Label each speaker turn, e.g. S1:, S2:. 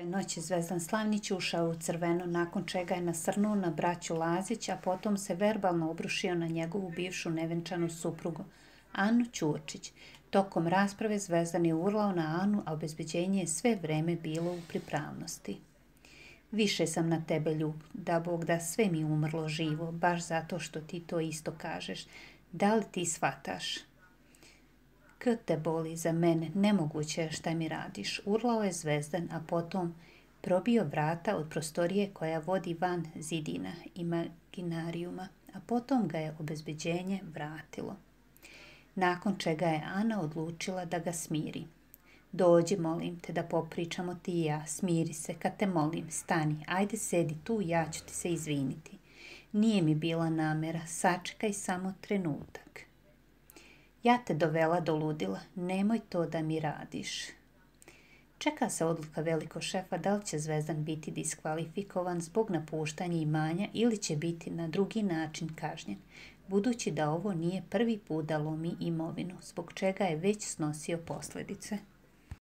S1: Noći Zvezdan Slavnić ušao u crveno, nakon čega je nasrnuo na braću Lazić, a potom se verbalno obrušio na njegovu bivšu nevenčanu suprugu, Anu Ćurčić. Tokom rasprave Zvezdan je urlao na Anu, a obezbeđenje je sve vreme bilo u pripravnosti. Više sam na tebe ljub, da Bog da sve mi umrlo živo, baš zato što ti to isto kažeš. Da li ti shvataš? K te boli za mene, nemoguće je šta mi radiš, urlao je Zvezdan, a potom probio vrata od prostorije koja vodi van zidina imaginarijuma, a potom ga je obezbeđenje vratilo. Nakon čega je Ana odlučila da ga smiri. Dođi, molim te, da popričamo ti i ja, smiri se, kad te molim, stani, ajde sedi tu, ja ću ti se izviniti. Nije mi bila namera, sačekaj samo trenutak. Ja te dovela do ludila, nemoj to da mi radiš. Čeka se odluka velikog šefa da li će Zvezdan biti diskvalifikovan zbog napuštanja imanja ili će biti na drugi način kažnjen, budući da ovo nije prvi put da lomi imovinu, zbog čega je već snosio posljedice.